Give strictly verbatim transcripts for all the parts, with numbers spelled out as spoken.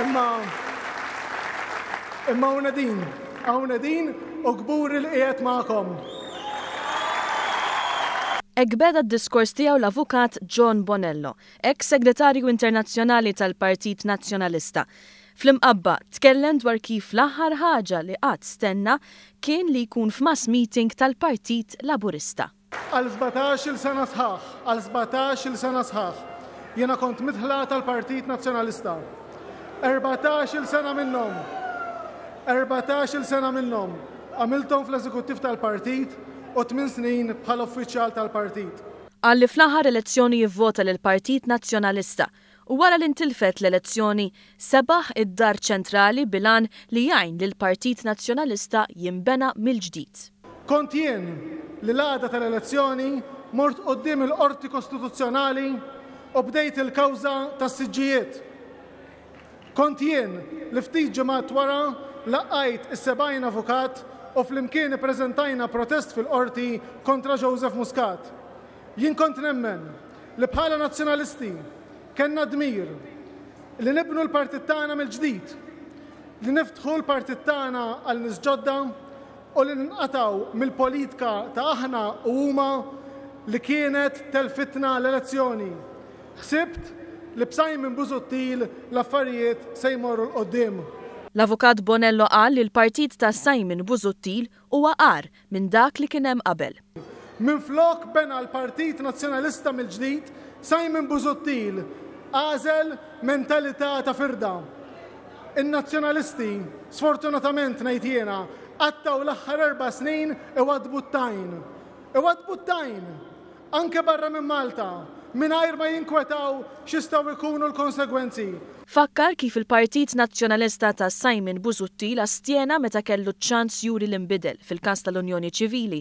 Imma imma hawn din, hawn din u kburi li qiegħed magħkom. Hekk beda d-diskors tiegħu l-avukat John Bonello, ex-segretarju internazzjonali tal-Partit Nazzjonalista. Fl-Imqabba tkellem dwar kif l-aħħar ħaġa li qatt stenna kien li jkun f'mass meeting tal-Partit Laburista. Għal sbatax-il sena sħaħ, għal sbatax-il sena sħaħ, jiena kont midħla tal-Partit Nazzjonalista. Erbatax-il sena minnhom, erbatax-il sena minnhom, għamilthom fl-eżekuttiv tal-partit u tmien snin bħala uffiċjal tal-partit. Qal li fl-aħħar elezzjoni jivvota lill-Partit Nazzjonalista u wara li ntilfet l-elezzjoni sebaħ id-dar ċentrali bil-għan li jgħin lill-Partit Nazzjonalista jinbena mill-ġdid. Kont jien li l-għada tal-elezzjoni mort quddiem il-Qorti Kostituzzjonali u bdejt il-kawża tas-siġġijiet. Kont jien li ftit ġimgħat wara laqajt is-sebgħin avukat u flimkien ippreżentajna protest fil-qorti kontra Joseph Muscat. Jien kont nemmen li bħala nazzjonalisti kellna dmir li nibnu l-partit tagħna mill-ġdid, li niftħu l-partit tagħna għal nies ġodda u li ninqataw mill-politika ta' aħna u huma li kienet telfitna l-elezzjoni. Ħsibt li b'Simon Busuttil l-affarijiet se jmorru 'l quddiem. L-avukat Bonello qal li l-partit ta' Simon Busuttil huwa agħar minn dak li kien hemm qabel. Minflok bena l-Partit Nazzjonalista mill-ġdid, Simon Busuttil għażel mentalità ta' firda. In-nazzjonalisti, sfortunatament ngħid jiena, qattaw l-aħħar erba' snin iwadbu t-tajn. Iwadbu t-tajn, anke barra minn Malta, mingħajr ma jinkwetaw x'jistgħu jkunu l-konsegwenzi. Fakkar kif il-Partit Nazzjonalista ta' Simon Busuttil astjena meta kellu ċans juri l-imbidel fil-każ tal-Unjoni Ċivili,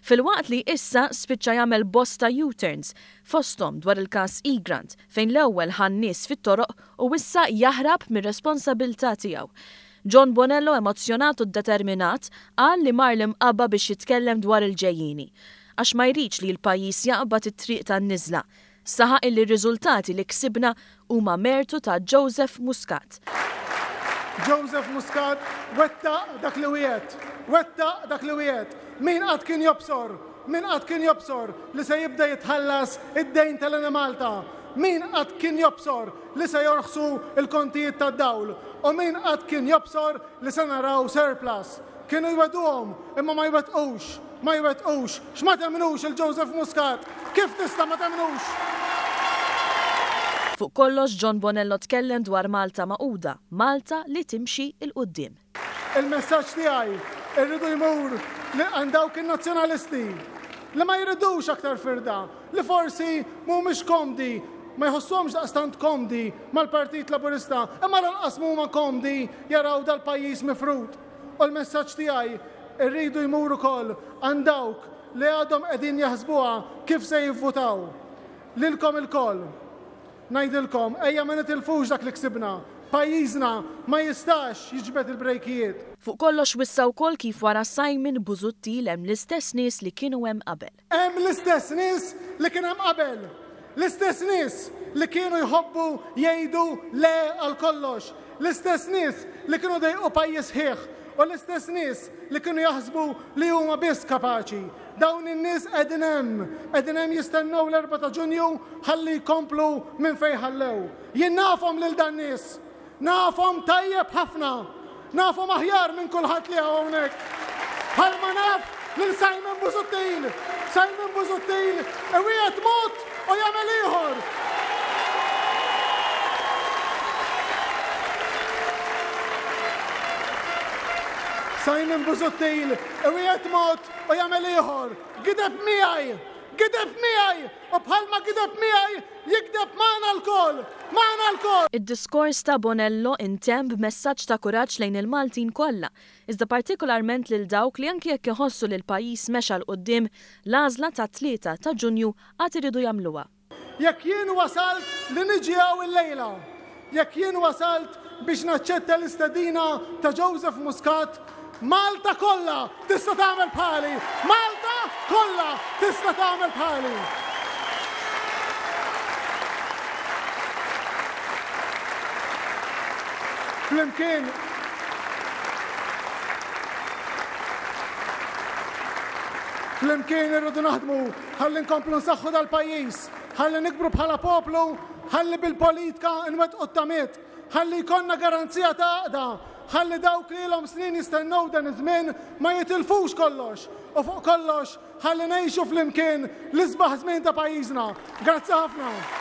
filwaqt li issa spiċċa jagħmel bosta U-turns fosthom dwar il-każ Egrant fejn l-ewwel ħa n-nies fit-toroq u issa jaħrab mir-responsabilità tiegħu. John Bonello, emozzjonat u determinat, qal li mar l-Imqabba biex jitkellem dwar il-ġejjieni għax ma jridx li l-pajjiż jaqbad it-triq tan-niżla. Saħaq illi r-riżultati li ksibna huma mertu ta' Joseph Muscat. Joseph Muscat wettaq dak li wiegħed, wettaq dak li wiegħed. Min qatt kien jobsor, min qatt kien jobsor li se jibda jitħallas id-dejn tal-Enemalta? Min qatt kien jobsor li se jorħsu il-kontijiet tad-dawl? U min qatt kien jobsor li se naraw surplus? Kienu jweduhom imma ma jwettqux, ma jwettqux. X'ma temnux il-Joseph Muscat? Kif tista' ma temnux? Fuq kollox John Bonello tkellem dwar Malta Magħquda, Malta li timxi 'l quddiem. Il-messaġġ tiegħi irridu jmur li għand dawk in-nazzjonalisti li ma jridux aktar firda, li forsi mhumiex komdi, ma jħossuhomx daqstant komdi mal-Partit Laburista, imma lanqas huma komdi jaraw dal-pajjiż mifrud. U l-messaġġ tiegħi irridu jmur ukoll għand dawk li għadhom qegħdin jaħsbuha kif se jivvutaw. Lilkom ilkoll. Ngħidilkom, ejja ma nitilfux dak li ksibna. Pajjiżna ma jistax jiġbed il-brejkijiet. Fuq kollox wissa wkoll kif wara Simon Busuttil hemm l-istess nies li kienu hemm qabel. Hemm l-istess nies li kien hemm qabel. L-istess nies li kienu jħobbu jgħidu le għal kollox. L-istess nies li kienu dejqu pajjiż ħieħ. U l-istess nies li kienu jaħsbu li huma biss kapaċi. Dawn in-nies qegħdin hemm, qegħdin hemm jistennew l-erbgħa ta' Ġunju ħalli jkomplu minn fejn ħallew. Jien nafhom lil dan nies, nafhom tajjeb ħafna, nafhom aħjar minn kulħadd li hawn hawnhekk. Bħalma naf lil Simon Busuttil, Simon Busuttil iwiegħed mod u jagħmel ieħor. Simon Busuttil iwiegħed mod u jagħmel ieħor. Gideb miegħi, gideb miegħi, u bħalma gideb miegħi jigdeb magħna lkoll, magħna lkoll. Id-diskors ta' Bonello intemm b'messaġġ ta' kuraġġ lejn il-Maltin kollha, iżda partikolarment lil dawk li anki jekk iħossu li l-pajjiż mexa 'l quddiem, l-għażla ta' tlieta ta' Ġunju għad iridu jagħmluha. Jekk jien wasalt li niġi hawn illejla, jekk jien wasalt biex naċċetta l-istedina ta' Joseph Muscat, Malta kollha tista' tagħmel bħali! Malta kollha tista' tagħmel bħali! Flimkien Flimkien irridu naħdmu ħalli nkomplu nsaħħu dal-pajjiż, ħalli nikbru bħala poplu, ħalli bil-politika nwettqu t-tamiet, ħalli jkollna garanzija ta' għaqda, ħalli dawk li ilhom snin jistennew dan iż-żmien ma jitilfux kollox u fuq kollox ħalli ngħixu flimkien l-isbaħ żmien ta' pajjiżna. Grazzi ħafna.